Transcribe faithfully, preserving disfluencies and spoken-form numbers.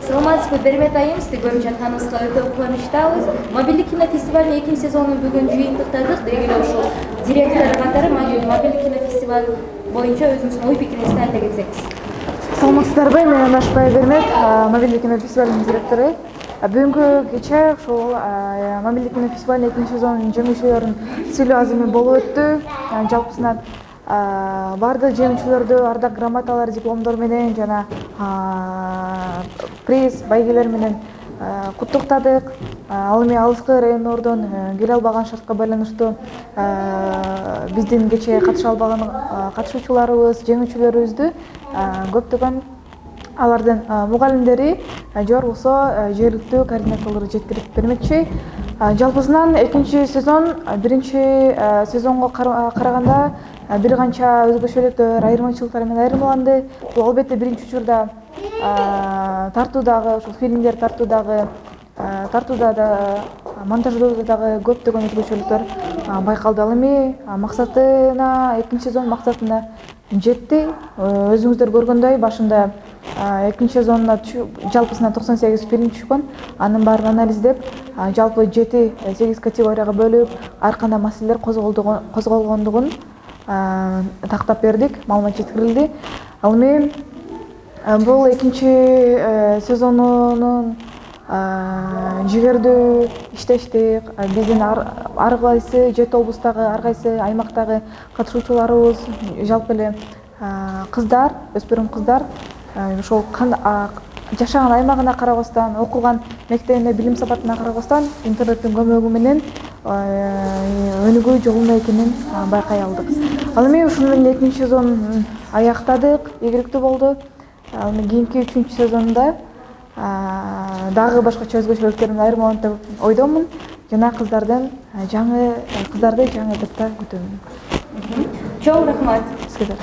Саламатсызбы, Бермет айым, сизди көрүп жатканыбызга өтө кубанычтабыз. Мобилдик кинофестивалдын экинчи сезонун бүгүн жыйынтыктадык. Деги эле ушул директор катары мобилдик кинофестиваль боюнча өзүңүздүн ой пикириңизди айта кетсеңиз. Саламатсыздарбы, мен Анашбай Бермет, мобилдик кинофестивалдын директору. Бүгүнкү кече ушул мобилдик кинофестивалдын экинчи сезонунун жеңүүчүлөрүнүн сүйлөө азымы болуп өттү. Жалпысынан бардык жеңүүчүлөрдү ардак грамоталар, дипломдор менен жана приз, байгелер менен куттуктадык. Ал эми алыскы райондордон келе албаган шартка байланыштуу биздин кече катыша албаган катышуучуларыбыз, жеңүүчүлөрүбүздү көптөгөн алардын мугалимдери же болбосо жергиликтүү координаторлору жеткирип бермекчи. Жалпысынан экинчи сезон биринчи сезонго караганда бир канча өзгөчөлүктөр, айырмачылыктар менен айырмаланды. Бул албетте биринчи учурда тартуудагы, ушул фильмдер тартуудагы, тартууда да, монтаждоодо дагы көптөгөн өзгөчөлүктөр байкалды. Ал эми максатына, экинчи сезон максатына жетти. Өзүңүздөр көргөндөй, башында экинчи сезонуна жалпысынан токсон сегиз фильм түшкөн. Анын баарын анализдеп, жалпы жети сегиз категорияга бөлүп, ар кандай маселелер козголгондугун тактап бердик, маалымат жеткирилди. Ал эми бул экинчи сезонунун жигердүү иштештик, биздин ар кайсы жети облустагы, ар кайсы аймактагы катышуучуларыбыз, жалпы эле кыздар, өспүрүм кыздар ошол жашаган аймагына карабастан, окуган мектебине, билим сапатына карабастан интернеттин көмөгү менен өнүгүү жолунда экенин байкай алдык. Ал эми ушуну менен экинчи сезонун аяктадык, ийгиликтүү болду. Ал эми кийинки үчүнчү сезонунда дагы башкача өзгөчөлүктөр менен айырмаланат деп ойдомун. Жана кыздардын жаңы кыздарды жаңы эпизоддо күтөмүн. Чоң рахмат. Сизге